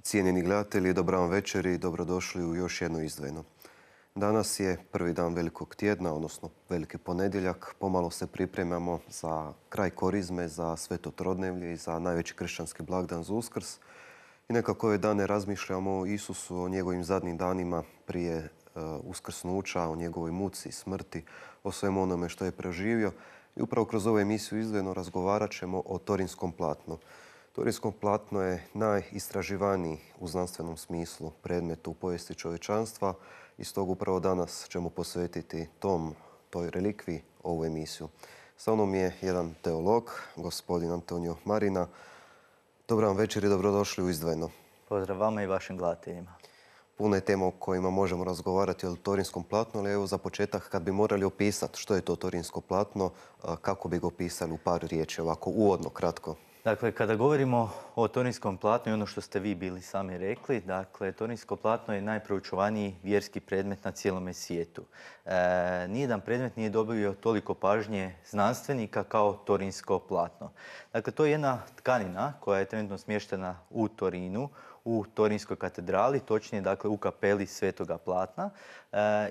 Cijenjeni gledatelji, dobra vam večer i dobrodošli u još jedno izdvojeno. Danas je prvi dan velikog tjedna, odnosno veliki ponedjeljak. Pomalo se pripremamo za kraj korizme, za Sveto Trodnevlje i za najveći kršćanski blagdan za Uskrs. I nekako ove dane razmišljamo o Isusu, o njegovim zadnjim danima prije uskrsnuća, o njegovoj muci i smrti, o svemu onome što je preživio. I upravo kroz ovu emisiju izdvojeno razgovarat ćemo o Torinskom platnu. Torinsko platno je najistraživaniji u znanstvenom smislu predmet u povijesti čovječanstva i stoga upravo danas ćemo posvetiti toj relikviji ovu emisiju. Sa mnom je jedan teolog, gospodin Antonio Marina. Dobar vam večer i dobrodošli u izdvojeno. Pozdrav vama i vašim gledateljima. Puno je tema o kojima možemo razgovarati o Torinskom platnu, ali evo za početak kad bi morali opisati što je to Torinsko platno, kako bi ga opisali u par riječi, ovako uvodno, kratko. Dakle, kada govorimo o Torinskom platnu i ono što ste vi bili sami rekli, dakle, Torinsko platno je najproučavaniji vjerski predmet na cijelome svijetu. Nijedan predmet nije dobio toliko pažnje znanstvenika kao Torinsko platno. Dakle, to je jedna tkanina koja je trenutno smještena u Torinu, u Torinskoj katedrali, točnije dakle u kapeli Svetoga Platna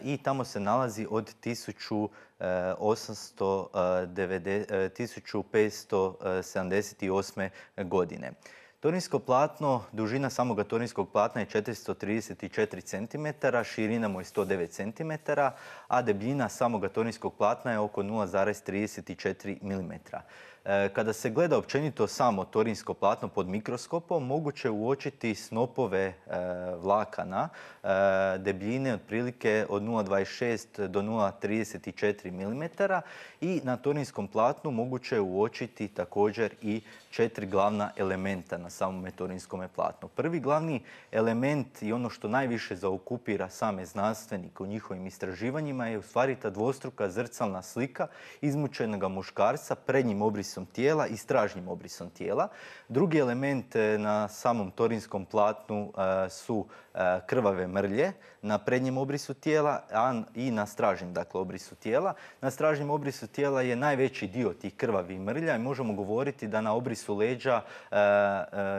i tamo se nalazi od 1578. godine. Torinsko platno, dužina samoga Torinskog platna je 434 cm, širina mu je 109 cm, a debljina samoga Torinskog platna je oko 0,34 mm. Kada se gleda općenito samo Torinsko platno pod mikroskopom, moguće uočiti snopove vlakana debljine otprilike od 0,26 do 0,34 mm i na Torinskom platnu moguće uočiti također i 4 glavna elementa na samome Torinskome platnu. Prvi glavni element i ono što najviše zaokupira same znanstvenike u njihovim istraživanjima je u stvari ta dvostruka zrcalna slika izmučenog muškarca prednjim obrisom tijela i stražnjim obrisom tijela. Drugi element na samom Torinskom platnu su krvave mrlje na prednjem obrisu tijela i na stražnjem obrisu tijela. Na stražnjem obrisu tijela je najveći dio tih krvavih mrlja i možemo govoriti da na obrisu leđa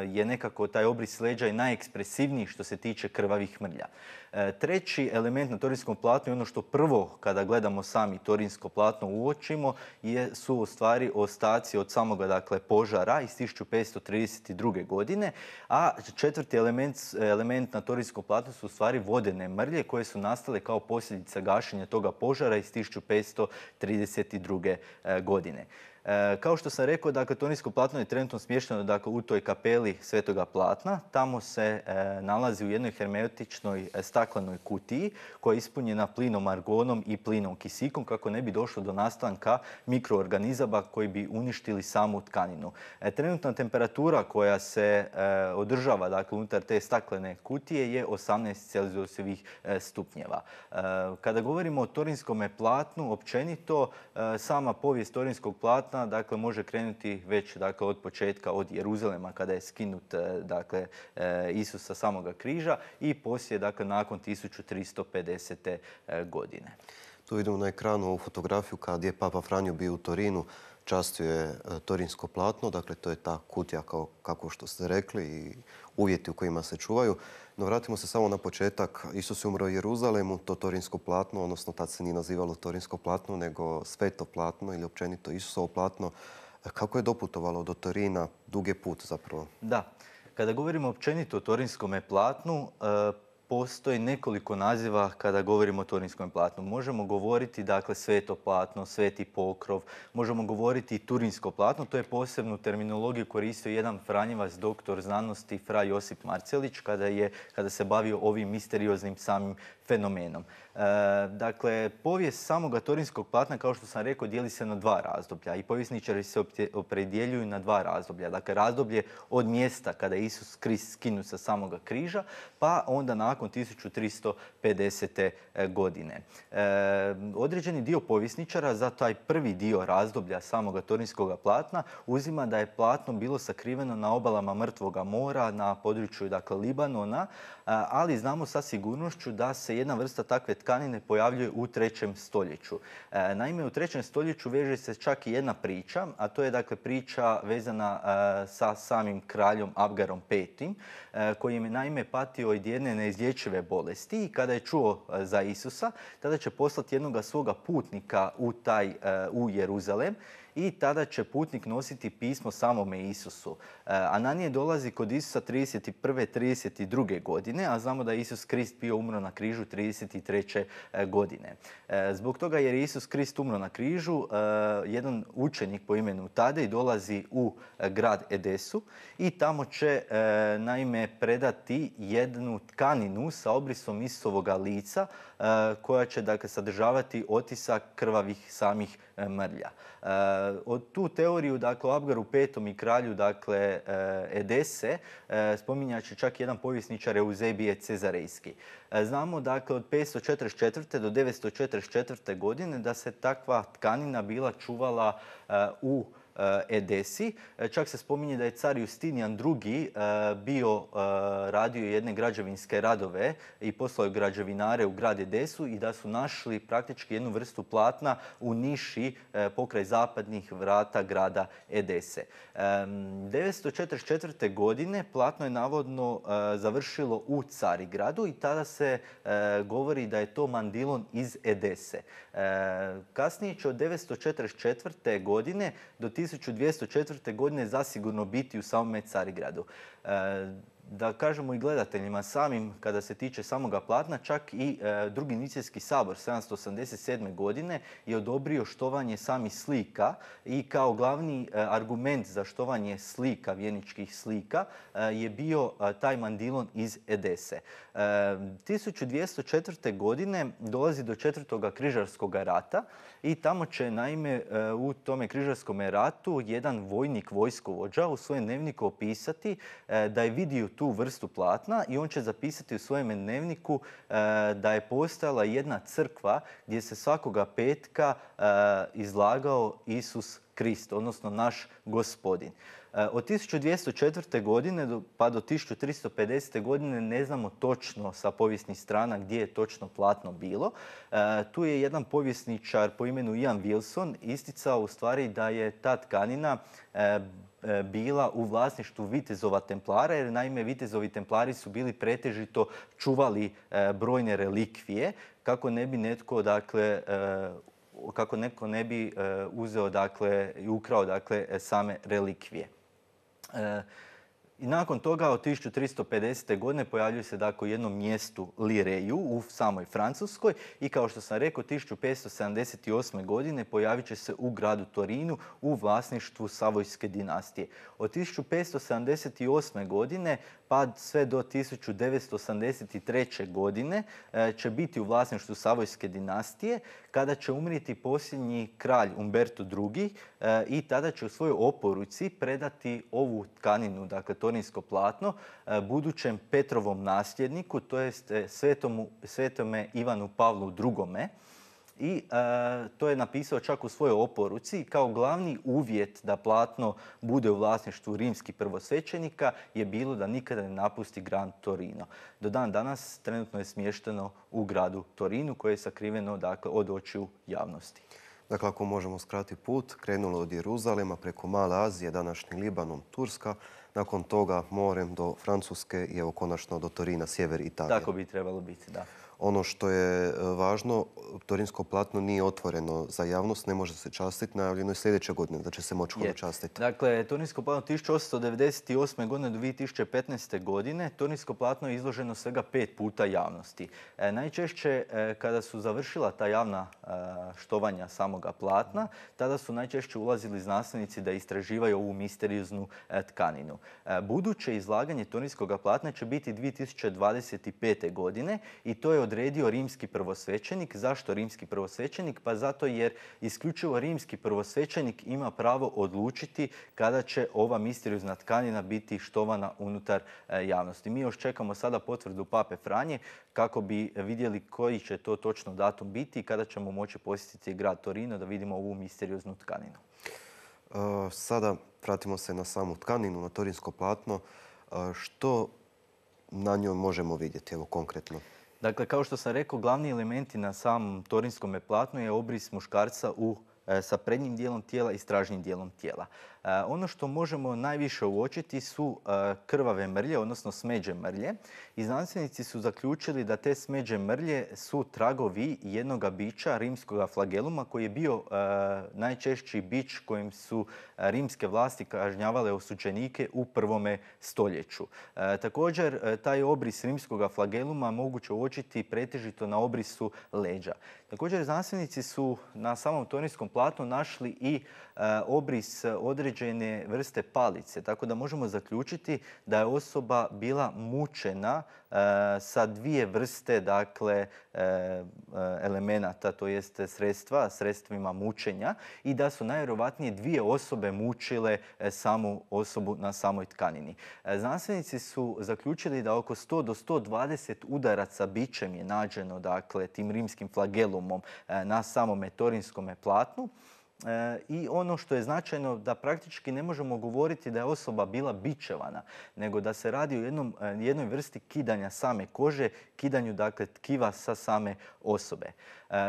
je nekako taj obris leđa i najekspresivniji što se tiče krvavih mrlja. Treći element na Torinskom platnu je ono što prvo kada gledamo sami Torinsko platno uočimo su u stvari ostaci od samoga požara iz 1532. godine, a četvrti element na Torinsko platno su u stvari vodene mrlje koje su nastale kao posljedica gašenja toga požara iz 1532. godine. Kao što sam rekao, Torinsko platno je trenutno smješteno u toj kapeli Svetoga Platna. Tamo se nalazi u jednoj hermetičnoj staklenoj kutiji koja je ispunjena plinom argonom i plinom kisikom kako ne bi došlo do nastanka mikroorganizama koji bi uništili samu tkaninu. Trenutna temperatura koja se održava unutar te staklene kutije je 18 celzijusovih stupnjeva. Kada govorimo o Torinskome platnu, općenito sama povijest Torinskog platna može krenuti već od početka, od Jeruzalema kada je skinut Isus sa samoga križa i poslije nakon 1350. godine. Tu vidimo na ekranu ovu fotografiju kad je Papa Franjo bio u Torinu, častio je Torinsko platno, dakle to je ta kutija kako što ste rekli i uvjeti u kojima se čuvaju. No vratimo se samo na početak. Isus je umro u Jeruzalemu, to Torinsko platno, odnosno tad se nije nazivalo Torinsko platno, nego Sveto platno ili općenito Isusovo platno. Kako je doputovalo do Torina? Dug je put zapravo. Da. Kada govorimo općenito o Torinskome platnu, postoji nekoliko naziva kada govorimo o Torinskom platnu. Možemo govoriti Sveto platno, Sveti pokrov, možemo govoriti Turinsko platno. To je posebnu terminologiju koristio jedan franjevac, doktor znanosti fra Josip Marcelić kada se bavio ovim misterioznim samim fenomenom. Povijest samoga Torinskog platna, kao što sam rekao, dijeli se na dva razdoblja i povjesničari se opredjeljuju na dva razdoblja. Razdoblje od mjesta kada je Isus Krist skinut sa samoga križa, pa onda nakon nakon 1350. godine. Određeni dio povjesničara za taj prvi dio razdoblja samoga torinskog platna uzima da je platno bilo sakriveno na obalama Mrtvoga mora, na području dakle, Libanona, ali znamo sa sigurnošću da se jedna vrsta takve tkanine pojavljuje u 3. stoljeću. Naime, u 3. stoljeću veže se čak i jedna priča, a to je dakle priča vezana sa samim kraljom Abgarom V, koji je naime patio od jedne neizlječive bolesti i kada je čuo za Isusa, tada će poslati jednoga svoga putnika u Jeruzalem i tada će putnik nositi pismo samome Isusu. Ananije dolazi kod Isusa 31. 32. godine, a znamo da je Isus Krist bio umro na križu 33. godine. Zbog toga jer je Isus Krist umro na križu, jedan učenik po imenu Tadej dolazi u grad Edesu i tamo će naime predati jednu tkaninu sa obrisom Isusovoga lica koja će dakle, sadržavati otisak krvavih samih mrlja. Od tu teoriju, dakle, o Abgaru V i kralju, dakle, Edese, spominjat će čak jedan povjesničar Euzebije Cezarejski. Znamo, dakle, od 544. do 944. godine da se takva tkanina bila čuvala u Edesi. Čak se spominje da je car Justinijan II bio radio jedne građevinske radove i poslao građevinare u grad Edesu i da su našli praktički jednu vrstu platna u niši pokraj zapadnih vrata grada Edese. 944. godine platno je navodno završilo u Carigradu i tada se govori da je to mandilon iz Edese. Kasnije će od 944. godine do 1204. godine zasigurno biti u samome Carigradu. Da kažemo i gledateljima samim, kada se tiče samoga platna, čak i Drugi Nicijski sabor 787. godine je odobrio štovanje samih slika i kao glavni argument za štovanje slika, vjeničkih slika, je bio taj mandilon iz Edese. 1204. godine dolazi do 4. križarskog rata i tamo će naime u tome križarskom ratu jedan vojnik, vojskovođa u svojem dnevniku opisati da je vidio tu vrstu platna i on će zapisati u svojem dnevniku da je postojala jedna crkva gdje se svakoga petka izlagao Isus Krist, odnosno naš Gospodin. Od 1204. godine pa do 1350. godine ne znamo točno sa povijesnih strana gdje je točno platno bilo. Tu je jedan povjesničar po imenu Ian Wilson isticao u stvari da je ta tkanina bila u vlasništvu vitezova templara, jer naime vitezovi templari su bili pretežito čuvali brojne relikvije kako ne bi netko, dakle, kako netko ne bi uzeo, dakle, i ukrao, dakle, same relikvije. I nakon toga od 1350. godine pojavljuje se dakle u jednom mjestu Lireju u samoj Francuskoj i kao što sam rekao 1578. godine pojavit će se u gradu Torinu u vlasništvu Savojske dinastije. Od 1578. godine pa sve do 1983. godine će biti u vlasništvu Savojske dinastije kada će umrijeti posljednji kralj Umberto II i tada će u svojoj oporuci predati ovu tkaninu, dakle torinsko platno, budućem Petrovom nasljedniku, to jest svetome Ivanu Pavlu II. I to je napisao čak u svojoj oporuci. Kao glavni uvjet da platno bude u vlasništvu rimskih prvosvećenika je bilo da nikada ne napusti grad Torino. Do dan danas trenutno je smješteno u gradu Torinu koje je sakriveno, dakle, od očiju javnosti. Dakle, ako možemo skratiti put, krenulo od Jeruzalema preko Male Azije, današnji Libanon, Turska, nakon toga morem do Francuske i evo konačno do Torina, sjever Italije. Tako bi trebalo biti, da. Ono što je važno, torinsko platno nije otvoreno za javnost, ne može se častiti, najavljeno je sljedeće godine da će se moći častiti. Dakle, torinsko platno 1898. godine do 2015. godine, torinsko platno je izloženo svega 5 puta javnosti. Najčešće kada su završila ta javna štovanja samoga platna, tada su najčešće ulazili znanstvenici da istraživaju ovu misterioznu tkaninu. Buduće izlaganje torinskog platna će biti 2025. godine i to je odredio rimski prvosvećenik. Zašto rimski prvosvećenik? Pa zato jer isključivo rimski prvosvećenik ima pravo odlučiti kada će ova misteriozna tkanina biti štovana unutar javnosti. Mi još čekamo sada potvrdu Pape Franje kako bi vidjeli koji će to točno datum biti i kada ćemo moći posjetiti grad Torino da vidimo ovu misterioznu tkaninu. Sada vratimo se na samu tkaninu, na torinsko platno. Što na njoj možemo vidjeti, evo konkretno? Dakle, kao što sam rekao, glavni elementi na samom torinskom platnu je obris muškarca sa prednjim dijelom tijela i stražnjim dijelom tijela. Ono što možemo najviše uočiti su krvave mrlje, odnosno smeđe mrlje. I znanstvenici su zaključili da te smeđe mrlje su tragovi jednoga bića, rimskoga flageluma, koji je bio najčešći bić kojim su rimske vlasti kažnjavale osuđenike u 1. stoljeću. Također, taj obris rimskoga flageluma moguće uočiti pretežito na obrisu leđa. Također, znanstvenici su na samom torinskom platnu našli i obris određene vrste palice, tako da možemo zaključiti da je osoba bila mučena sa dvije vrste, dakle, elemenata, to jest sredstvima mučenja, i da su najvjerojatnije dvije osobe mučile samu osobu na samoj tkanini. Znanstvenici su zaključili da oko 100 do 120 udaraca bičem je nađeno, dakle, tim rimskim flagelumom na samome torinskome platnu. I ono što je značajno, da praktički ne možemo govoriti da je osoba bila bičevana, nego da se radi o jednoj vrsti kidanja same kože, kidanju, dakle, tkiva sa same osobe.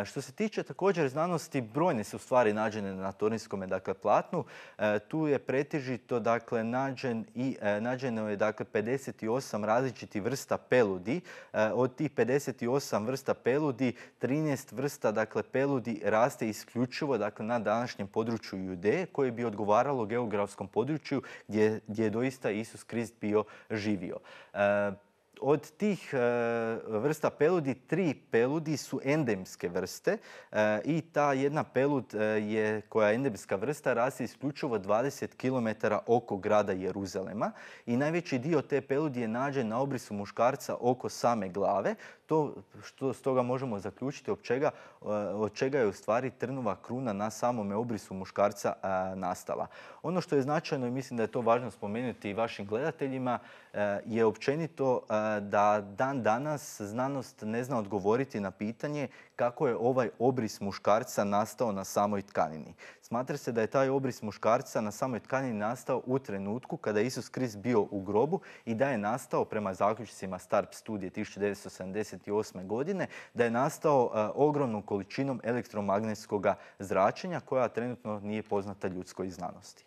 Što se tiče također znanosti, brojne su stvari nađene na torinskome, dakle, platnu. Tu je pretežito, dakle, nađeno je, dakle, 58 različitih vrsta peludi. Od tih 58 vrsta peludi, 13 vrsta, dakle, peludi raste isključivo, dakle, na današnjem području Judeje, koje bi odgovaralo geografskom području gdje je doista Isus Krist bio živio. Od tih vrsta peludi, 3 peludi su endemske vrste i ta jedna pelud koja je endemska vrsta raste isključivo 20 km oko grada Jeruzalema i najveći dio te peludi je nađen na obrisu muškarca oko same glave. To što stoga možemo zaključiti od čega je u stvari trnova kruna na samome obrisu muškarca nastala. Ono što je značajno i mislim da je to važno spomenuti i vašim gledateljima je općenito da dan danas znanost ne zna odgovoriti na pitanje kako je ovaj obris muškarca nastao na samoj tkanini. Smatra se da je taj obris muškarca na samoj tkanini nastao u trenutku kada je Isus Krist bio u grobu i da je nastao, prema zaključcima Starp studije 1978. godine, da je nastao ogromnom količinom elektromagnetskog zračenja koja trenutno nije poznata ljudskoj znanosti.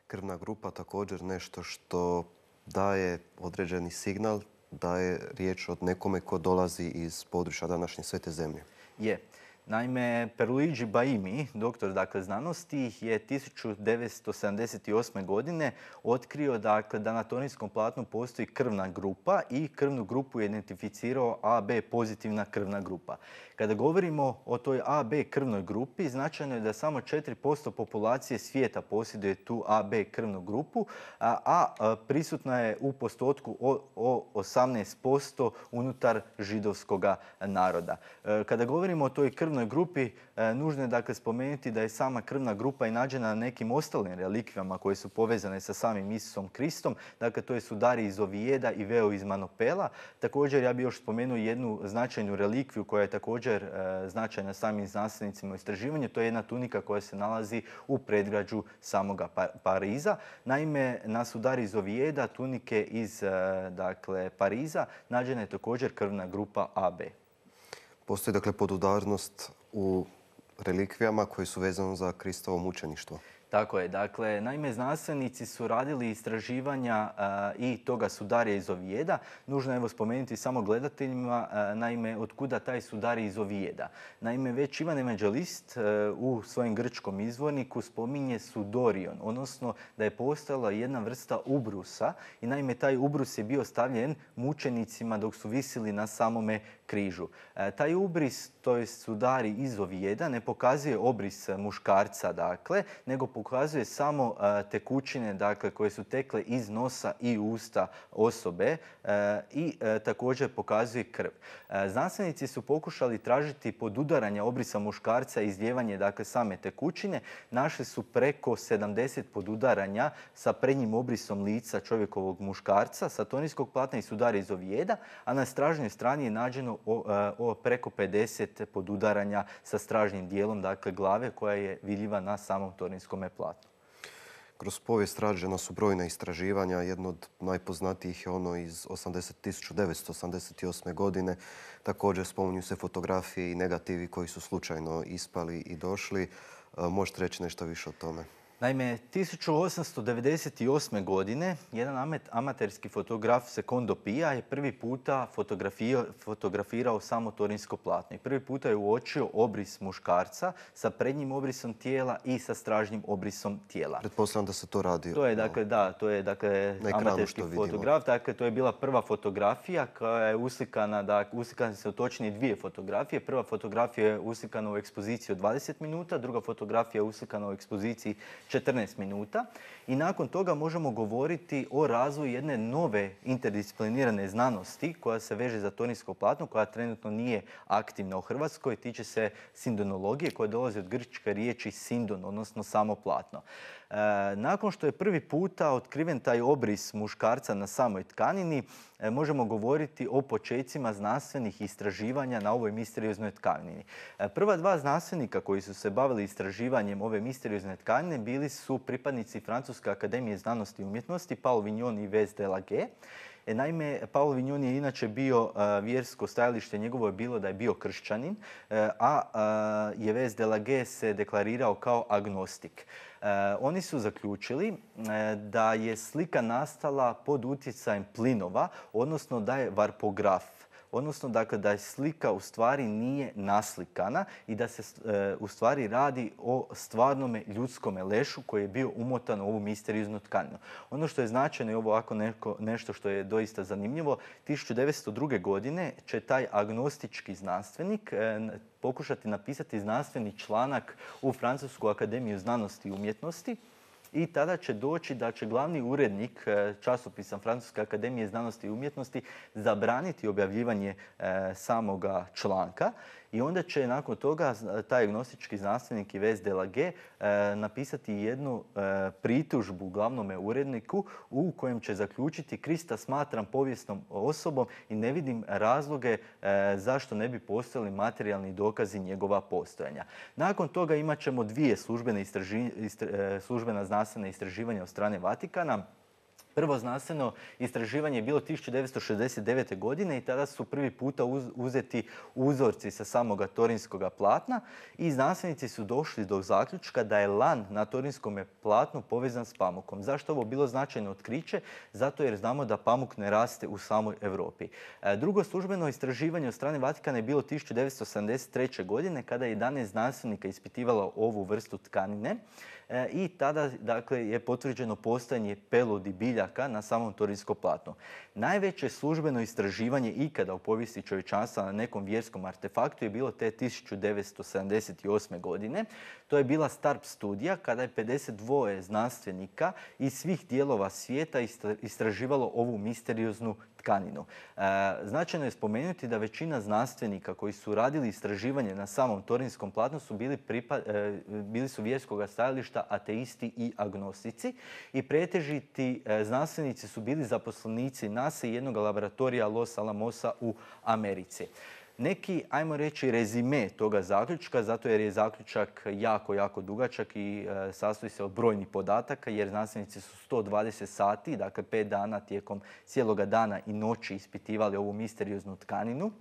Krvna grupa također nešto što daje određeni signal da je riječ o nekome ko dolazi iz područja današnje Svete zemlje. Je. Naime, Pierluigi Baimi, doktor, dakle, znanosti, je 1978. godine otkrio, dakle, da na torinskom platnu postoji krvna grupa i krvnu grupu je identificirao AB pozitivna krvna grupa. Kada govorimo o toj AB krvnoj grupi, značajno je da samo 4% populacije svijeta posjeduje tu AB krvnu grupu, a prisutna je u postotku o 18% unutar židovskog naroda. Kada govorimo o toj krvnoj grupi, nužno je, dakle, spomenuti da je sama krvna grupa i nađena na nekim ostalim relikvijama koje su povezane sa samim Isusom Kristom. Dakle, to je sudari iz Ovijeda i veo iz Manopela. Također, ja bih još spomenuo jednu značajnu relikviju koja je također značajna samim znanstvenicima u istraživanju. To je jedna tunika koja se nalazi u predgrađu samoga Pariza. Naime, na sudari iz Ovijeda, tunike iz, dakle, Pariza, nađena je također krvna grupa AB. Postoji, dakle, podudarnost u relikvijama koje su vezane za Kristovo mučeništvo. Tako je. Dakle, naime, znanstvenici su radili istraživanja i toga sudarija iz Ovijeda. Nužno je, evo, spomenuti samo gledateljima, naime, od kuda taj sudarij iz Ovijeda. Naime, već Ivan Evanđelist u svojem grčkom izvorniku spominje sudorion, odnosno da je postojala jedna vrsta ubrusa i naime taj ubrus je bio stavljen mučenicima dok su visili na samome križu. Taj ubris, to je sudari izovijeda, ne pokazuje obris muškarca, dakle, nego pokazuje samo tekućine, dakle, koje su tekle iz nosa i usta osobe i također pokazuje krv. Znanstvenici su pokušali tražiti podudaranja obrisa muškarca i izlijevanje, dakle, same tekućine. Našli su preko 70 podudaranja sa prednjim obrisom lica čovjekovog muškarca sa tonijskog platna i sudara izovijeda, a na stražnjoj strani je nađeno preko 50 podudaranja sa stražnjim dijelom, dakle glave, koja je vidljiva na samom tonijskom platnu. Kroz povijest rađena su brojna istraživanja. Jedno od najpoznatijih je ono iz 1988. godine. Također spominju se fotografije i negativi koji su slučajno ispali i došli. Možete reći nešto više o tome? Naime, 1898. godine jedan amaterski fotograf Secondo Pia je prvi puta fotografirao samo torinsko platno. I prvi puta je uočio obris muškarca sa prednjim obrisom tijela i sa stražnjim obrisom tijela. Pretpostavljam da se to radi. To je, amaterski fotograf. Dakle, to je bila prva fotografija koja je uslikana, uslikane se točnije dvije fotografije. Prva fotografija je uslikana u ekspoziciji od 20 minuta, druga fotografija je uslikana u ekspoziciji 14 minuta i nakon toga možemo govoriti o razvoju jedne nove interdisciplinirane znanosti koja se veže za tonijsko platno, koja trenutno nije aktivna u Hrvatskoj, tiče se sindonologije koja dolazi od grčke riječi sindon, odnosno samo platno. Nakon što je prvi puta otkriven taj obris muškarca na samoj tkanini, možemo govoriti o počecima znanstvenih istraživanja na ovoj misterioznoj tkanini. Prva dva znanstvenika koji su se bavili istraživanjem ove misteriozne tkanine bili su pripadnici Francuske akademije znanosti i umjetnosti, Paul Vignon i Yves Delague. Naime, Paul Vignon je inače bio vjersko stajalište, njegovo je bilo da je bio kršćanin, a Yves Delague se deklarirao kao agnostik. Oni su zaključili da je slika nastala pod utjecajem plinova, odnosno da je varpograf. Odnosno, dakle, da je slika u stvari nije naslikana i da se u stvari radi o stvarnome ljudskome lešu koji je bio umotan u ovu misterioznu tkaninu. Ono što je značajno i ovo ovako nešto što je doista zanimljivo, 1902. godine će taj agnostički znanstvenik pokušati napisati znanstveni članak u Francusku akademiju znanosti i umjetnosti. I tada će doći da će glavni urednik časopisa Francuske akademije znanosti i umjetnosti zabraniti objavljivanje samoga članka. I onda će nakon toga taj agnostički znanstvenik Yves Delague napisati jednu pritužbu glavnome uredniku u kojem će zaključiti: Krista smatram povijesnom osobom i ne vidim razloge zašto ne bi postojali materijalni dokazi njegova postojanja. Nakon toga imat ćemo dvije službena znanstvena istraživanja od strane Vatikana. Prvo znanstveno istraživanje je bilo 1969. godine i tada su prvi puta uzeti uzorci sa samoga torinskoga platna i znanstvenici su došli do zaključka da je lan na torinskom platnu povezan s pamukom. Zašto ovo bilo značajno otkriće? Zato jer znamo da pamuk ne raste u samoj Europi. Drugo službeno istraživanje od strane Vatikana je bilo 1973. godine kada je 11 znanstvenika ispitivalo ovu vrstu tkanine. I tada, dakle, je potvrđeno postojanje peludi biljaka na samom torinskom platnu. Najveće službeno istraživanje ikada u povijesti čovječanstva na nekom vjerskom artefaktu je bilo te 1978. godine. To je bila STARP studija kada je 52 znanstvenika iz svih dijelova svijeta istraživalo ovu misterioznu tkaninu. Značajno je spomenuti da većina znanstvenika koji su radili istraživanje na samom torinskom platnu su bili su vjerskoga stajališta ateisti i agnostici i pretežiti znanstvenici su bili zaposlenici NASA i jednog laboratorija Los Alamosa u Americi. Neki, ajmo reći, rezime toga zaključka, zato jer je zaključak jako dugačak i sastoji se od brojnih podataka, jer znanstvenici su 120 sati, dakle 5 dana tijekom cijeloga dana i noći ispitivali ovu misterioznu tkaninu.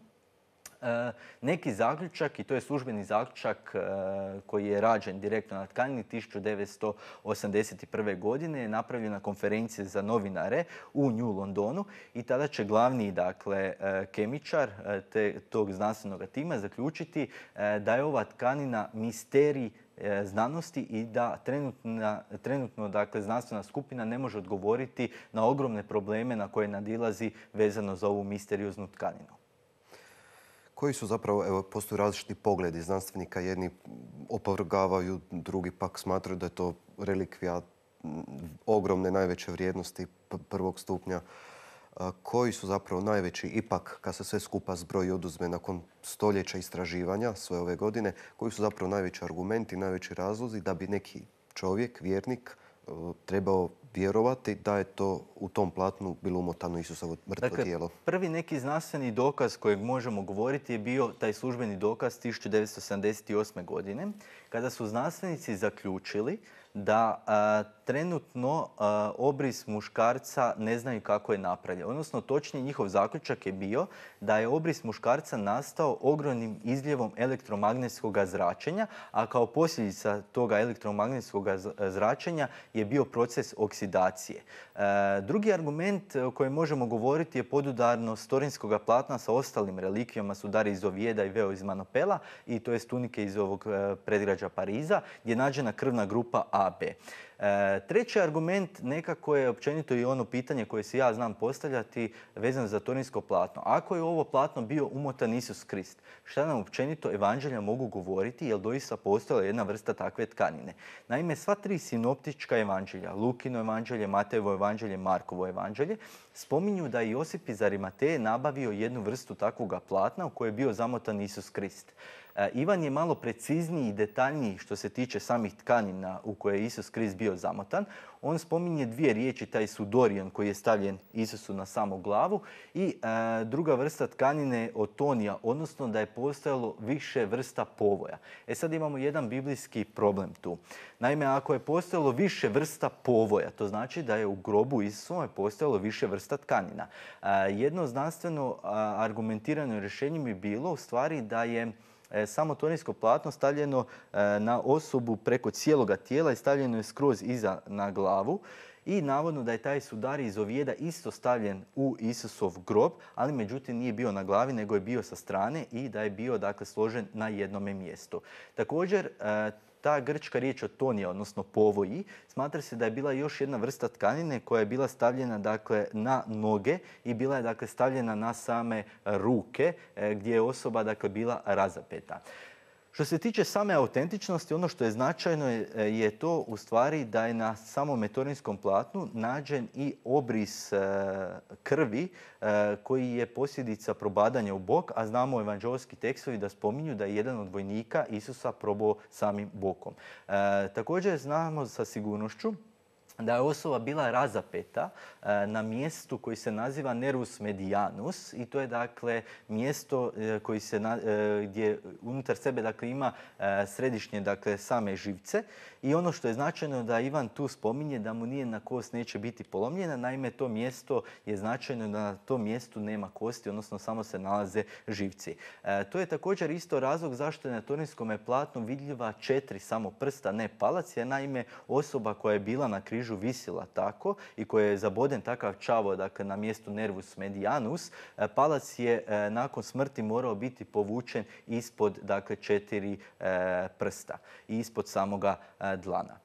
Neki zaključak, i to je službeni zaključak koji je rađen direktno na tkanini 1981. godine, je napravljen na konferenciji za novinare u New Londonu i tada će glavni, dakle, kemičar tog znanstvenog tima zaključiti da je ova tkanina misterij znanosti i da trenutno, dakle, znanstvena skupina ne može odgovoriti na ogromne probleme na koje nadilazi vezano za ovu misterioznu tkaninu. Koji su zapravo, evo, postoje različiti pogledi znanstvenika, jedni opovrgavaju, drugi pak smatraju da je to relikvija ogromne, najveće vrijednosti prvog stupnja. Koji su zapravo najveći, ipak, kad se sve skupa zbroji i oduzme nakon stoljeća istraživanja sve ove godine, koji su zapravo najveći argumenti, najveći razlozi da bi neki čovjek, vjernik, trebao vjerovati da je to u tom platnu bilo umotano Isusovo mrtvo tijelo? Prvi neki znanstveni dokaz kojeg možemo govoriti je bio taj službeni dokaz 1978. godine, kada su znanstvenici zaključili da trenutno obris muškarca ne znaju kako je napravljen. Odnosno, točnije njihov zaključak je bio da je obris muškarca nastao ogromnim izljevom elektromagnetskog zračenja, a kao posljedica toga elektromagnetskog zračenja je bio proces oksidacije. Drugi argument o kojem možemo govoriti je podudarnost torinskog platna sa ostalim relikvijama sudari iz Ovijeda i veo iz Manopela, i to jest tunike iz ovog predgrađa Pariza, gdje je nađena krvna grupa AB. Treći argument nekako je općenito i ono pitanje koje si ja znam postavljati vezano za torinsko platno. Ako je ovo platno bio umotan Isus Krist, šta nam općenito evanđelja mogu govoriti, jer doista postojala jedna vrsta takve tkanine? Naime, sva tri sinoptička evanđelja, Lukino evanđelje, Matejevo evanđelje, Markovo evanđelje, spominju da je Josip iz Arimateje nabavio jednu vrstu takvoga platna u kojoj je bio zamotan Isus Krist. Ivan je malo precizniji i detaljniji što se tiče samih tkanina u koje je Isus Krist bio zamotan. On spominje dvije riječi, taj sudorion koji je stavljen Isusu na samu glavu, i druga vrsta tkanine otonija, odnosno da je postojalo više vrsta povoja. Sad imamo jedan biblijski problem tu. Naime, ako je postojalo više vrsta povoja, to znači da je u grobu Isusovom postojalo više vrsta tkanina. Jedno znanstveno argumentirano rješenje bi bilo u stvari da je samo torinsko platno stavljeno na osobu preko cijeloga tijela i stavljeno je skroz iza na glavu, i navodno da je taj sudar iz Ovijeda isto stavljen u Isusov grob, ali međutim nije bio na glavi nego je bio sa strane i da je bio složen na jednome mjestu. Također, ta grčka riječ otonija, odnosno povoji, smatra se da je bila još jedna vrsta tkanine koja je bila stavljena na noge i bila je stavljena na same ruke gdje je osoba bila razapeta. Što se tiče same autentičnosti, ono što je značajno je to u stvari da je na samom torinskom platnu nađen i obris krvi koji je posljedica probadanja u bok, a znamo evanđeoski tekstovi da spominju da je jedan od vojnika Isusa probao samim bokom. Također znamo sa sigurnošću da je osoba bila razapeta na mjestu koji se naziva nervus medianus, i to je mjesto koji gdje unutar sebe ima središnje same živce, i ono što je značajno da Ivan tu spominje da mu nijedna kost neće biti polomljena. Naime, to mjesto je značajno da na tom mjestu nema kosti, odnosno samo se nalaze živci. To je također isto razlog zašto je na torinskom platnu vidljiva 4 samo prsta, ne palac, jer naime osoba koja je bila na križu visila tako i koja je zaboden takav čavo na mjestu nervus medianus, palac je nakon smrti morao biti povučen ispod 4 prsta i ispod samoga dlana.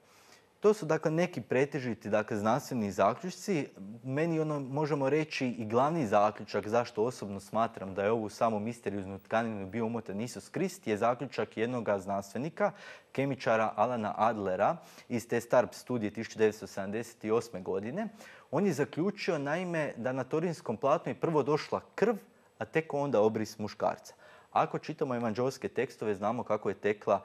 To su neki pretežiti znanstveni zaključci. Meni možemo reći i glavni zaključak zašto osobno smatram da je ovu samu misterioznu tkaninu bio umotan Isus Krist je zaključak jednog znanstvenika, kemičara Alana Adlera iz te STARP studije 1978. godine. On je zaključio naime da na torinskom platnu je prvo došla krv, a tek onda obris muškarca. Ako čitamo evanđeoske tekstove, znamo kako je tekla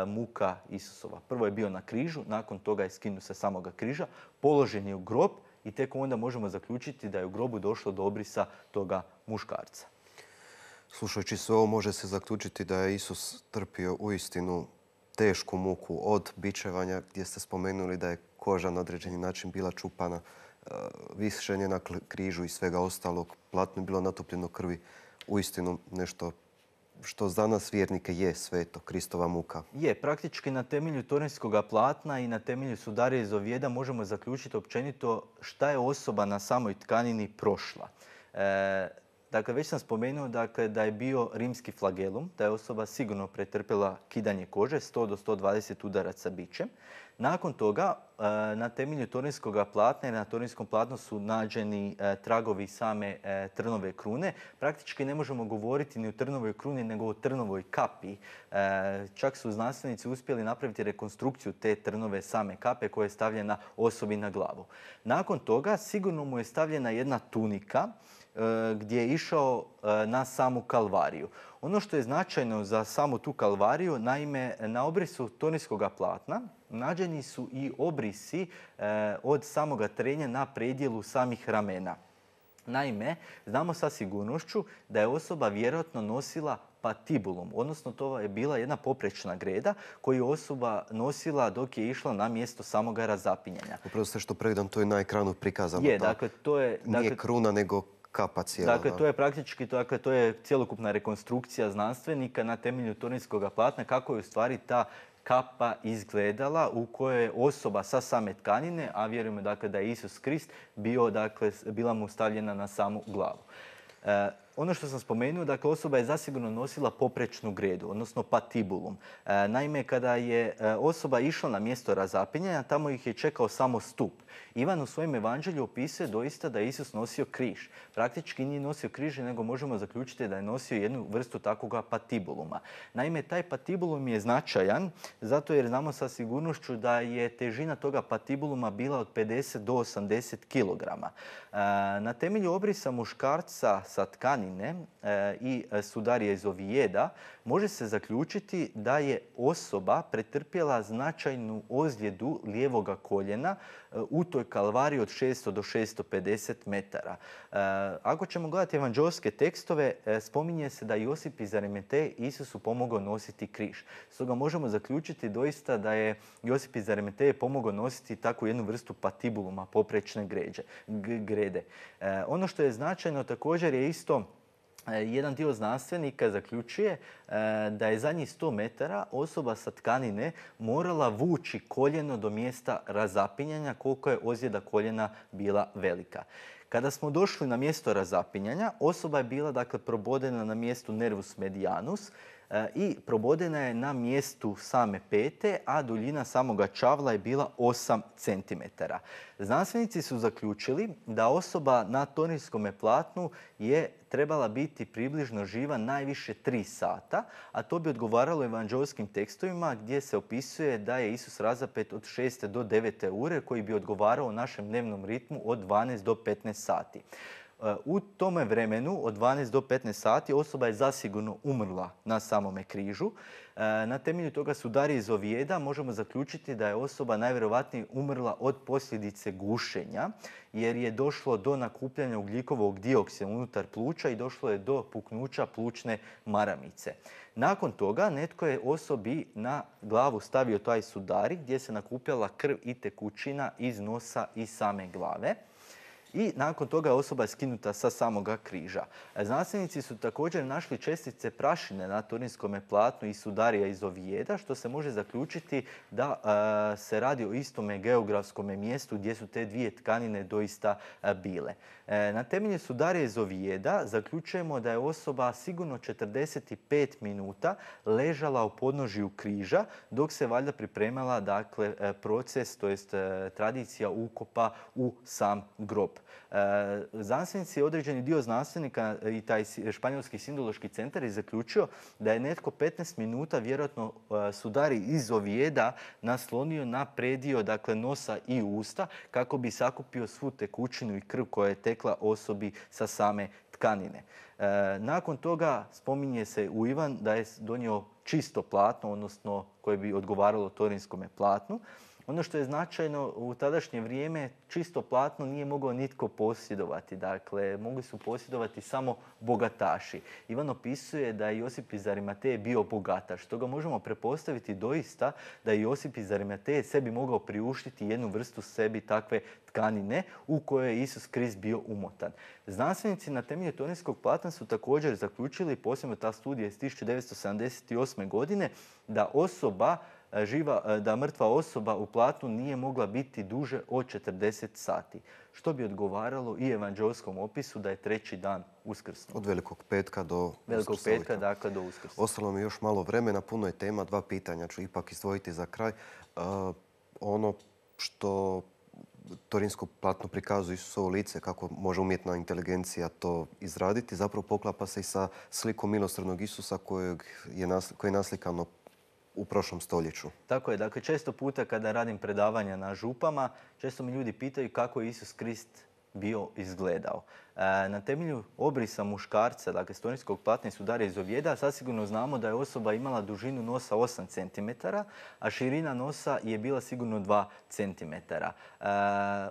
muka Isusova. Prvo je bio na križu, nakon toga je skinut sa samoga križa, položen je u grob i tek onda možemo zaključiti da je u grobu došlo do obrisa toga muškarca. Slušajući sve ovo, može se zaključiti da je Isus trpio uistinu tešku muku od bičevanja, gdje ste spomenuli da je koža na određeni način bila čupana, višenje na križu i svega ostalog, platno je bilo natopljeno krvi, uistinu nešto što za nas vjernike je sveto, Kristova muka. Je, praktički na temelju torinskog platna i na temelju sudarija iz Ovijeda možemo zaključiti općenito šta je osoba na samoj tkanini prošla. Dakle, već sam spomenuo da je bio rimski flagelum, da je osoba sigurno pretrpjela kidanje kože, 100 do 120 udaraca bičem. Nakon toga, na temelju torinskog platna i na torinskom platnu su nađeni tragovi same trnove krune. Praktički ne možemo govoriti ni o trnovoj kruni, nego o trnovoj kapi. Čak su znanstvenici uspjeli napraviti rekonstrukciju te trnove same kape koja je stavljena osobi na glavu. Nakon toga sigurno mu je stavljena jedna tunika gdje je išao na samu kalvariju. Ono što je značajno za samu tu kalvariju, naime, na obrisu torinskog platna nađeni su i obrisi od samoga trenja na predjelu samih ramena. Naime, znamo sa sigurnošću da je osoba vjerojatno nosila patibulum, odnosno to je bila jedna poprečna greda koju je osoba nosila dok je išla na mjesto samoga razapinjanja. Upravo sve što pregledam, to je na ekranu prikazano. Nije kruna, nego kapa cijela. Dakle, to je praktički, to je cjelokupna rekonstrukcija znanstvenika na temelju torinskog platna kako je u stvari ta kapa izgledala u kojoj je osoba sa same tkanine, a vjerujemo da je Isus Krist bila mu stavljena na samu glavu. Ono što sam spomenuo, osoba je zasigurno nosila poprečnu gredu, odnosno patibulum. Naime, kada je osoba išla na mjesto razapinjanja, tamo ih je čekao samo stup. Ivan u svojem evanđelju opisuje doista da je Isus nosio križ. Praktički nije nosio križ, nego možemo zaključiti da je nosio jednu vrstu takvoga patibuluma. Naime, taj patibulum je značajan zato jer znamo sa sigurnošću da je težina toga patibuluma bila od 50 do 80 kg. Na temelju obrisa muškarca sa tkanine i sudarija iz Ovijeda može se zaključiti da je osoba pretrpjela značajnu ozljedu lijevoga koljena u toj kalvariji od 600 do 650 metara. Ako ćemo gledati evanđeoske tekstove, spominje se da Josip iz Arimateje Isusu pomogao nositi križ. Stoga možemo zaključiti doista da je Josip iz Arimateje pomogao nositi takvu jednu vrstu patibuluma, poprečne grede. Ono što je značajno također je isto jedan dio znanstvenika zaključuje da je zadnjih 100 metara osoba sa tkanine morala vući koljeno do mjesta razapinjanja koliko je ozljeda koljena bila velika. Kada smo došli na mjesto razapinjanja, osoba je bila probodena na mjestu nervus medianus i probodena je na mjestu same pete, a duljina samoga čavla je bila 8 cm. Znanstvenici su zaključili da osoba na torinskom platnu je trebala biti približno živa najviše 3 sata, a to bi odgovaralo evanđeoskim tekstovima gdje se opisuje da je Isus razapet od 6. do 9. ure koji bi odgovarao našem dnevnom ritmu od 12 do 15 sati. U tome vremenu, od 12 do 15 sati, osoba je zasigurno umrla na samome križu. Na temelju toga sudarija iz Ovijeda možemo zaključiti da je osoba najvjerovatnije umrla od posljedice gušenja, jer je došlo do nakupljanja ugljikovog dioksida unutar pluća i došlo je do puknuća plućne maramice. Nakon toga netko je osobi na glavu stavio taj sudari gdje se nakupljala krv i tekućina iz nosa i same glave. I nakon toga osoba je skinuta sa samoga križa. Znanstvenici su također našli čestice prašine na torinskom platnu i sudarija iz Ovijeda, što se može zaključiti da se radi o istome geografskom mjestu gdje su te dvije tkanine doista bile. Na temelju sudarija iz Ovijeda zaključujemo da je osoba sigurno 45 minuta ležala u podnožju križa dok se valjda pripremala proces, to jest tradicija ukopa u sam grob. Znanstvenici, određeni dio znanstvenika i taj španjolski sindološki centar je zaključio da je netko 15 minuta vjerojatno sudari iz Ovijeda naslonio na predio nosa i usta kako bi sakupio svu tekućinu i krv koja je tekla osobi sa same tkanine. Nakon toga spominje se u Ivan da je donio čisto platno, odnosno koje bi odgovaralo torinskom platnu. Ono što je značajno, u tadašnje vrijeme čisto platno nije mogao nitko posjedovati. Dakle, mogli su posjedovati samo bogataši. Ivan opisuje da je Josip iz Arimateje bio bogataš. Stoga možemo prepostaviti doista da je Josip iz Arimateje sebi mogao priuštiti jednu vrstu sebi takve tkanine u kojoj je Isus Krist bio umotan. Znanstvenici na temelju torinskog platna su također zaključili, posebno ta studija iz 1978. godine, da osoba da mrtva osoba u platnu nije mogla biti duže od 40 sati, što bi odgovaralo i evanđelskom opisu da je treći dan uskrsnuo. Od Velikog petka do Velikog petka, dakle, do Uskrsa. Ostalo mi još malo vremena, puno je tema, 2 pitanja ću ipak izdvojiti za kraj. Ono što torinsko platno prikazuje Isusovo lice, kako može umjetna inteligencija to izraditi, zapravo poklapa se i sa slikom milosrdnog Isusa koje je naslikano u prošlom stoljeću. Tako je. Dakle, često puta kada radim predavanja na župama, često mi ljudi pitaju kako je Isus Krist bio izgledao. Na temelju obrisa muškarca, dakle torinskog platna i Sudarja iz Ovijeda, zasigurno znamo da je osoba imala dužinu nosa 8 cm, a širina nosa je bila sigurno 2 cm.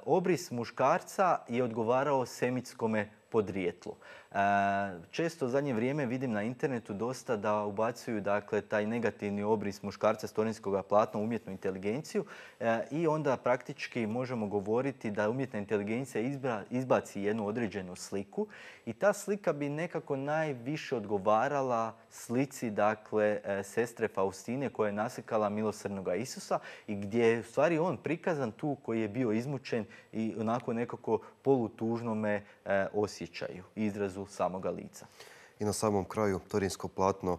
Obris muškarca je odgovarao semitskome podrijetlu. Često u zadnje vrijeme vidim na internetu dosta da ubacuju, dakle, taj negativni obris muškarca s torinskog platna u umjetnu inteligenciju i onda praktički možemo govoriti da umjetna inteligencija izbaci jednu određenu sliku i ta slika bi nekako najviše odgovarala slici, dakle, sestre Faustine koja je naslikala milosrdnog Isusa i gdje je u stvari on prikazan tu koji je bio izmučen i onako nekako polutužnome osjećaju, izrazu samoga lica. I na samom kraju torinsko platno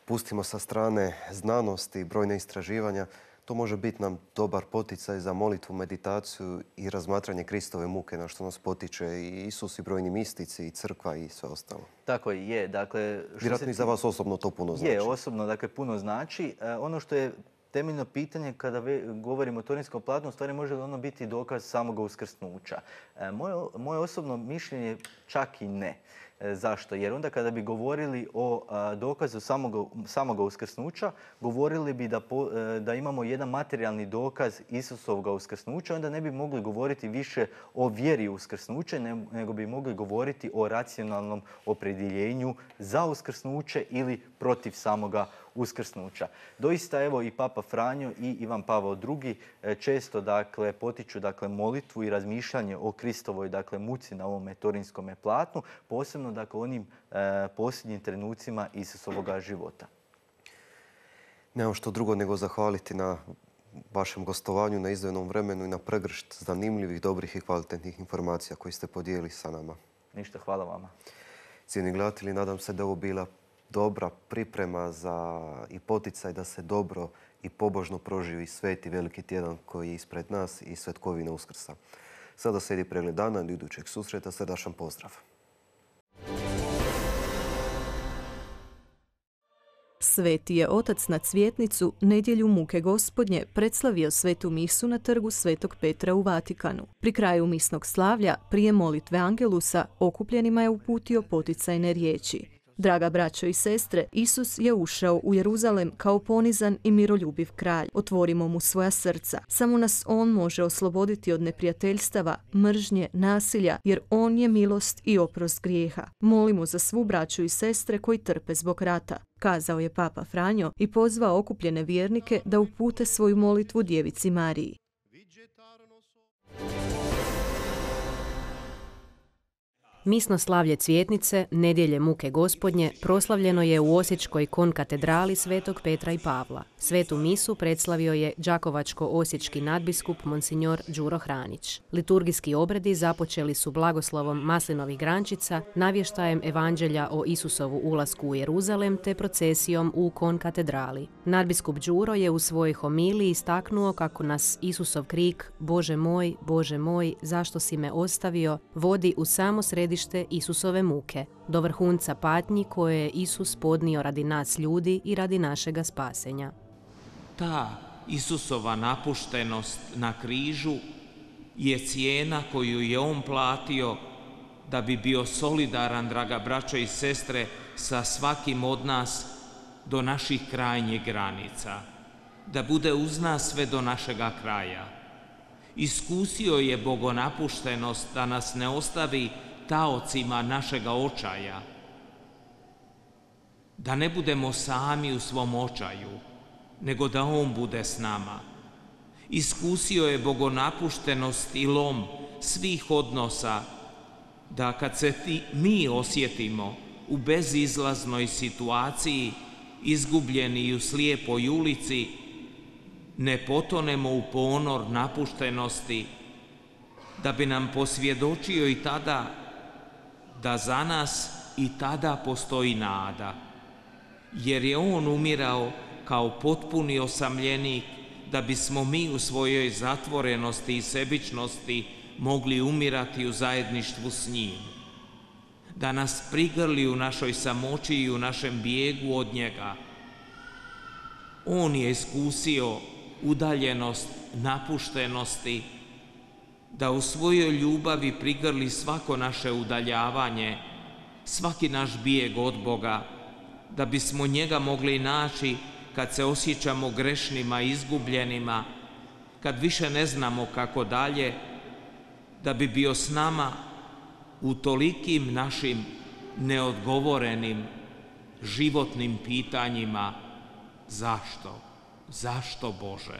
pustimo sa strane znanosti i brojne istraživanja. To može biti nam dobar poticaj za molitvu, meditaciju i razmatranje Kristove muke, na što nas potiče i Isus i brojni mistici i crkva i sve ostalo. Tako je. Dakle, vjerojatno i za vas osobno to puno znači. Je, osobno, dakle, puno znači. Ono što je temeljno pitanje kada govorimo o torinskom platnu, u stvari može li ono biti dokaz samog uskrsnuća? Moje osobno mišljenje čak i ne. Zašto? Jer onda kada bi govorili o dokazu samog uskrsnuća, govorili bi da imamo jedan materijalni dokaz Isusovog uskrsnuća, onda ne bi mogli govoriti više o vjeri uskrsnuća, nego bi mogli govoriti o racionalnom opredjeljenju za uskrsnuće ili protiv samoga uskrsnuća. Doista, evo, i Papa Franjo i Ivan Pavao II često, dakle, potiču, dakle, molitvu i razmišljanje o Kristovoj, dakle, muci na ovome torinskome platnu, posebno, dakle, onim posljednjim trenucima Isusovoga života. Nemam što drugo nego zahvaliti na vašem gostovanju, na izdvojenom vremenu i na pregršt zanimljivih, dobrih i kvalitetnih informacija koje ste podijelili sa nama. Ništa, hvala vama. Cijenjeni gledatelji, nadam se da ovo bila dobra priprema i poticaj da se dobro i pobožno proživi sveti veliki tjedan koji je ispred nas i svetkovina Uskrsa. Sada slijedi pregled dana, do idućeg susreta, srdačan pozdrav. Sveti je otac na Cvjetnicu nedjelju muke Gospodnje predslavio svetu misu na trgu Svetog Petra u Vatikanu. Pri kraju misnog slavlja, prije molitve Angelusa, okupljenima je uputio poticajne riječi. Draga braćo i sestre, Isus je ušao u Jeruzalem kao ponizan i miroljubiv kralj. Otvorimo mu svoja srca. Samo nas on može osloboditi od neprijateljstava, mržnje, nasilja, jer on je milost i oprost grijeha. Molimo za svu braću i sestre koji trpe zbog rata, kazao je Papa Franjo i pozvao okupljene vjernike da upute svoju molitvu Djevici Mariji. Misno slavlje Cvjetnice, nedjelje muke Gospodnje, proslavljeno je u Osječkoj konkatedrali Svetog Petra i Pavla. Svetu misu predslavio je đakovačko-osječki nadbiskup monsignor Đuro Hranić. Liturgijski obredi započeli su blagoslovom maslinovih grančica, navještajem evanđelja o Isusovu ulasku u Jeruzalem te procesijom u konkatedrali. Nadbiskup Đuro je u svojoj homiliji istaknuo kako nas Isusov krik Bože moj, zašto si me ostavio, vodi u samo središte Isusove muke, do vrhunca patnji koje je Isus podnio radi nas ljudi i radi našega spasenja. Ta Isusova napuštenost na križu je cijena koju je on platio da bi bio solidaran, draga braćo i sestre, sa svakim od nas do naših krajnjih granica, da bude uz nas sve do našega kraja. Iskusio je bogonapuštenost da nas ne ostavi taocima našega očaja, da ne budemo sami u svom očaju, nego da on bude s nama. Iskusio je bogonapuštenost i lom svih odnosa, da kad se mi osjetimo u bezizlaznoj situaciji, izgubljeni i u slijepoj ulici, ne potonemo u ponor napuštenosti, da bi nam posvjedočio i tada da za nas i tada postoji nada, jer je on umirao kao potpuni osamljenik, da bismo mi u svojoj zatvorenosti i sebičnosti mogli umirati u zajedništvu s njim, da nas prigrli u našoj samoći i u našem bijegu od njega. On je iskusio udaljenost napuštenosti, da u svojoj ljubavi prigrli svako naše udaljavanje, svaki naš bijeg od Boga, da bismo njega mogli naći kad se osjećamo grešnima i izgubljenima, kad više ne znamo kako dalje, da bi bio s nama u tolikim našim neodgovorenim životnim pitanjima. Zašto? Zašto, Bože?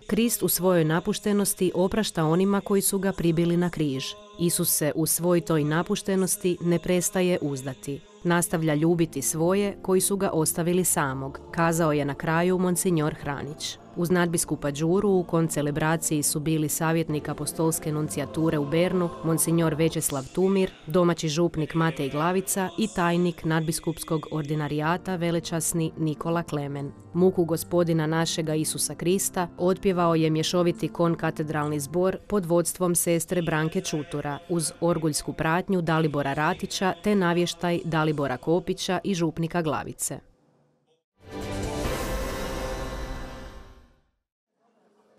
Krist u svojoj napuštenosti oprašta onima koji su ga pribili na križ. Isus se u svoj toj napuštenosti ne prestaje uzdati. Nastavlja ljubiti svoje koji su ga ostavili samog, kazao je na kraju monsignor Hranić. Uz nadbiskupa Đuru u koncelebraciji su bili savjetnik apostolske nunциjature u Bernu, monsignor Večeslav Tumir, domaći župnik Matej Glavica i tajnik nadbiskupskog ordinarijata velečasni Nikola Klemen. Muku Gospodina našega Isusa Krista otpjevao je mješoviti konkatedralni zbor pod vodstvom sestre Branke Čutura uz orguljsku pratnju Dalibora Ratića te navještaj Dalibora Kopića i župnika Glavice.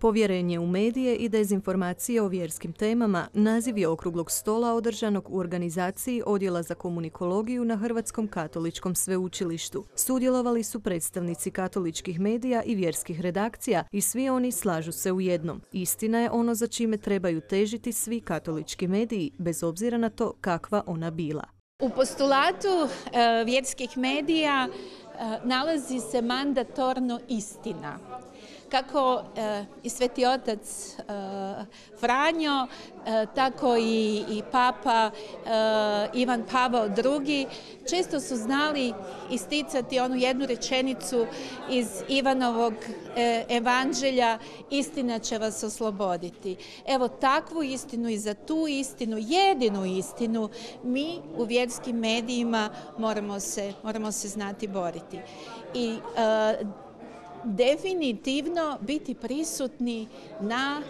Povjerenje u medije i dezinformacije o vjerskim temama naziv je okruglog stola održanog u organizaciji Odjela za komunikologiju na Hrvatskom katoličkom sveučilištu. Sudjelovali su predstavnici katoličkih medija i vjerskih redakcija i svi oni slažu se u jednom. Istina je ono za čime trebaju težiti svi katolički mediji, bez obzira na to kakva ona bila. U postulatu vjerskih medija nalazi se mandatorno istina. Kako i Sveti otac Franjo, tako i Papa Ivan Pavao II. Često su znali isticati onu jednu rečenicu iz Ivanovog evanđelja: istina će vas osloboditi. Evo takvu istinu i za tu istinu, jedinu istinu, mi u vjerskim medijima moramo se znati boriti. I definitivno biti prisutni na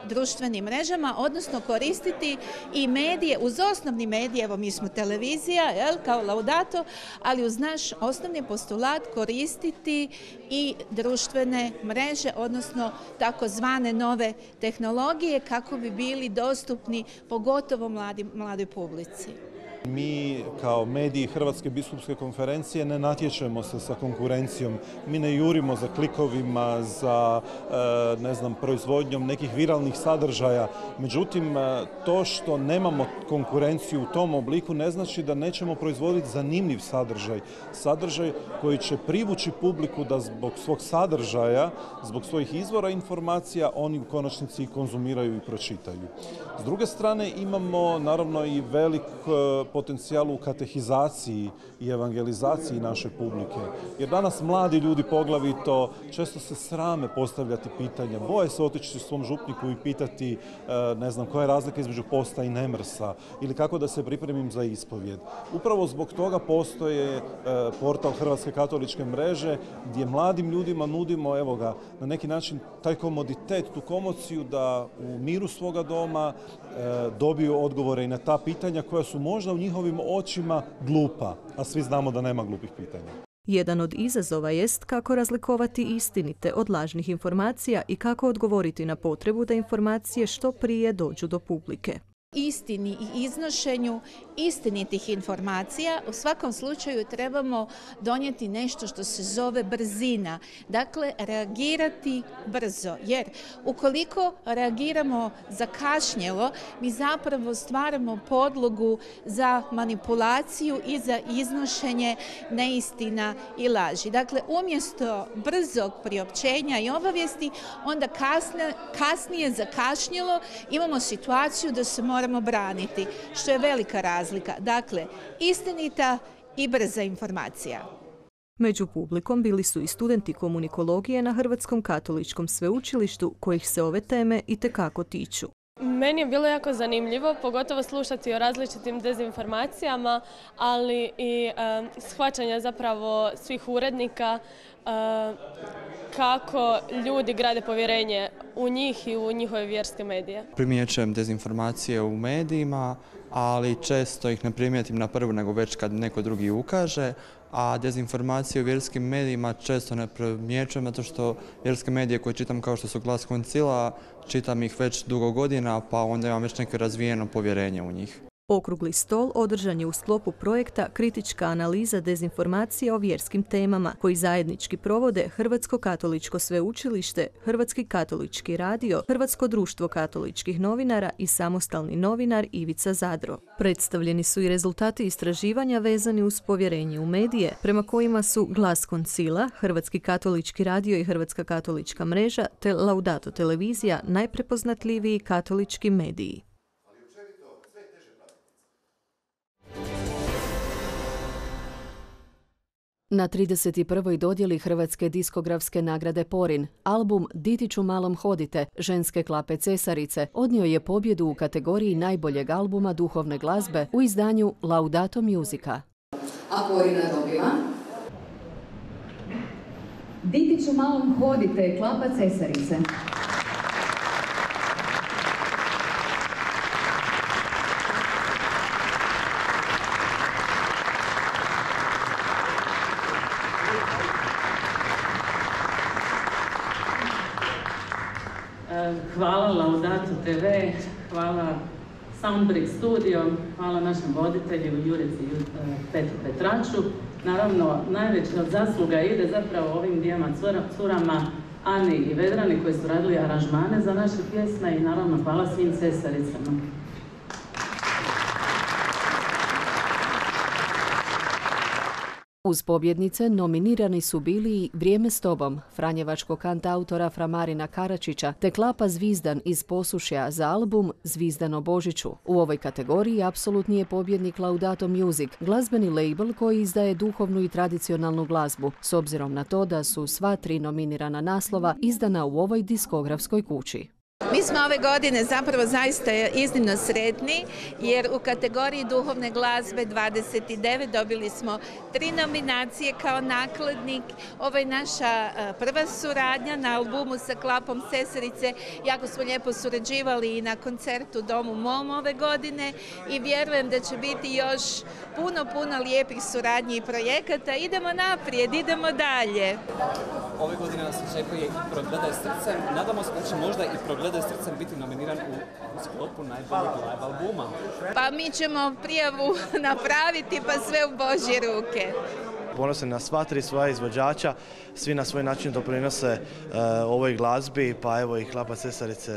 društvenim mrežama, odnosno koristiti i medije, uz osnovni medije, evo mi smo televizija, kao Laudato, ali uz naš osnovni postulat koristiti i društvene mreže, odnosno takozvane nove tehnologije, kako bi bili dostupni pogotovo mladoj publici. Mi kao mediji Hrvatske biskupske konferencije ne natječemo se sa konkurencijom, mi ne jurimo za klikovima, za proizvodnjom nekih viralnih sadržaja. Međutim, to što nemamo konkurenciju u tom obliku ne znači da nećemo proizvoditi zanimljiv sadržaj koji će privući publiku da zbog svog sadržaja, zbog svojih izvora informacija oni u konačnici konzumiraju i pročitaju. S druge strane imamo naravno i velik potencijal u katehizaciji i evangelizaciji naše publike. Jer danas mladi ljudi poglavito često se srame postavljati pitanja, boje se otići svom župniku i pitati koja je razlika između posta i nemrsa ili kako da se pripremim za ispovjed. Upravo zbog toga postoje portal Hrvatske katoličke mreže gdje mladim ljudima nudimo na neki način taj komoditet, tu komociju da u miru svoga doma dobiju odgovore i na ta pitanja koja su možda u njihovim očima glupa, a svi znamo da nema glupih pitanja. Jedan od izazova jest kako razlikovati istinite od lažnih informacija i kako odgovoriti na potrebu da informacije što prije dođu do publike. Istini i iznošenju istinitih informacija u svakom slučaju trebamo donijeti nešto što se zove brzina. Dakle, reagirati brzo. Jer ukoliko reagiramo zakašnjelo, mi zapravo stvaramo podlogu za manipulaciju i za iznošenje neistina i laži. Dakle, umjesto brzog priopćenja i obavijesti, onda kasnije zakašnjelo imamo situaciju da se moramo braniti, što je velika razlika. Dakle, istinita i brza informacija. Među publikom bili su i studenti komunikologije na Hrvatskom katoličkom sveučilištu kojih se ove teme itekako tiču. Meni je bilo jako zanimljivo, pogotovo slušati o različitim dezinformacijama, ali i shvaćanja zapravo svih urednika kako ljudi grade povjerenje u njih i u njihove vjerske medije. Primjećujem dezinformacije u medijima, ali često ih ne primijetim na prvu nego već kad neko drugi ukaže, a dezinformacije u vjerskim medijima često ne primjećujem zato što vjerske medije koje čitam kao što su Glas Koncila, čitam ih već dugo godina pa onda imam već neko razvijeno povjerenje u njih. Okrugli stol održan je u sklopu projekta Kritička analiza dezinformacija o vjerskim temama, koji zajednički provode Hrvatsko katoličko sveučilište, Hrvatski katolički radio, Hrvatsko društvo katoličkih novinara i samostalni novinar Ivica Zadro. Predstavljeni su i rezultati istraživanja vezani uz povjerenje u medije, prema kojima su Glas Koncila, Hrvatski katolički radio i Hrvatska katolička mreža te Laudato televizija najprepoznatljiviji katolički mediji. Na 31. dodjeli Hrvatske diskografske nagrade Porin, album Ditiću malom hodite, ženske klape Cesarice, odnio je pobjedu u kategoriji najboljeg albuma duhovne glazbe u izdanju Laudato Musica. A Porina dobiva Ditiću malom hodite, klapa Cesarice. Hvala Laudato TV, hvala Soundbrick Studio, hvala našem voditelju Jurici Petru Petraču. Naravno, najveća zasluga ide zapravo ovim dvijema curama, Ani i Vedrani, koji su radili aranžmane za naše pjesme i naravno hvala svim Cesaricama. Uz pobjednice nominirani su bili i Vrijeme s tobom, franjevačkog kantautora Fra Marina Karačića, te klapa Zvizdan iz Posušja za album Zvizdan o Božiću. U ovoj kategoriji apsolutni je pobjednik Laudato Music, glazbeni label koji izdaje duhovnu i tradicionalnu glazbu, s obzirom na to da su sva 3 nominirana naslova izdana u ovoj diskografskoj kući. Mi smo ove godine zapravo zaista iznimno sretni jer u kategoriji duhovne glazbe 29 dobili smo 3 nominacije kao nakladnik. Ovo je naša prva suradnja na albumu sa klapom Cesarice. Jako smo lijepo surađivali i na koncertu Domu mom ove godine i vjerujem da će biti još puno lijepih suradnji i projekata. Idemo naprijed, idemo dalje. Ove godine nas očekuje i Progledaj srcem. Nadamo se da će možda i Progledaj srcem biti nominiran u sklopu najboljeg live albuma. Pa mi ćemo prijavu napraviti pa sve u Božje ruke. Ponosan na sva 3 svoja izvođača, svi na svoj način doprinose ovoj glazbi, pa evo i klapa Cesarice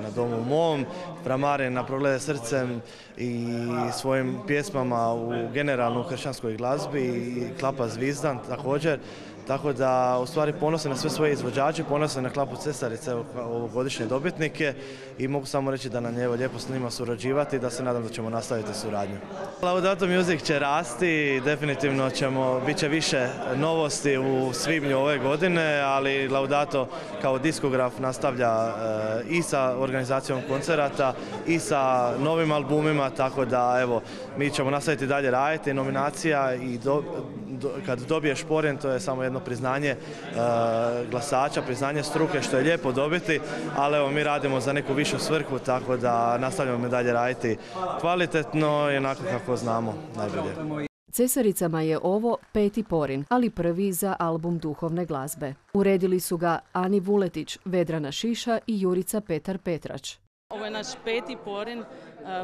na Domu mom, Fra Marin na Progledaj srcem i svojim pjesmama u generalno hršćanskoj glazbi i klapa Zvizdan također. Tako da, u stvari, ponosan na sve svoje izvođače, ponosan na klapu Cesarice, ovogodišnje dobitnike i mogu samo reći da nam je lijepo s njima surađivati i da se nadam da ćemo nastaviti suradnju. Laudato Music će rasti, definitivno bit će više novosti u svibnju ove godine, ali Laudato kao diskograf nastavlja i sa organizacijom koncerata i sa novim albumima, tako da evo, mi ćemo nastaviti dalje raditi, nominacija i kad dobiješ Porin, to je samo jedno priznanje glasača, priznanje struke, što je lijepo dobiti, ali evo, mi radimo za neku višu svrhu, tako da nastavljamo dalje raditi kvalitetno i onako kako znamo najbolje. Cesaricama je ovo 5. Porin, ali prvi za album duhovne glazbe. Uredili su ga Ani Vuletić, Vedrana Šiša i Jurica Petar Petrač. Ovo je naš 5. Porin,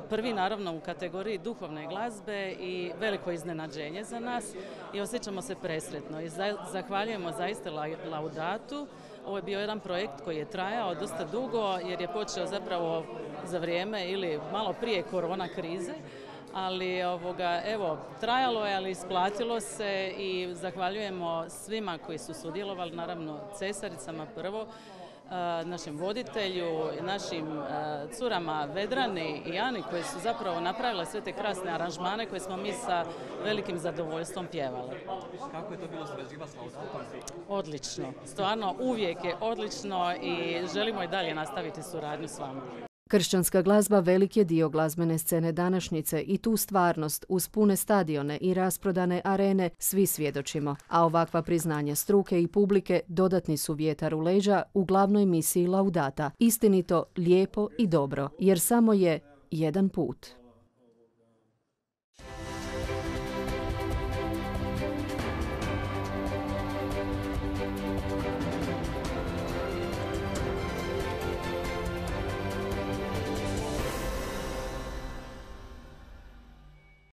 prvi naravno u kategoriji duhovne glazbe i veliko iznenađenje za nas i osjećamo se presretno i zahvaljujemo zaista Laudatu. Ovo je bio jedan projekt koji je trajao dosta dugo jer je počeo zapravo za vrijeme ili malo prije korona krize, ali evo, trajalo je, ali isplatilo se i zahvaljujemo svima koji su sudjelovali, naravno Cesaricama prvo, našem voditelju, našim curama Vedrani i Ani koje su zapravo napravile sve te krasne aranžmane koje smo mi sa velikim zadovoljstvom pjevali. Kako je to bilo surađivati s Laudatom? Odlično, stvarno uvijek je odlično i želimo i dalje nastaviti suradnju s vama. Kršćanska glazba velik je dio glazbene scene današnjice i tu stvarnost uz pune stadione i rasprodane arene svi svjedočimo, a ovakva priznanja struke i publike dodatni su vjetar u leđa u glavnoj misiji Laudata, istinito, lijepo i dobro, jer samo je jedan put.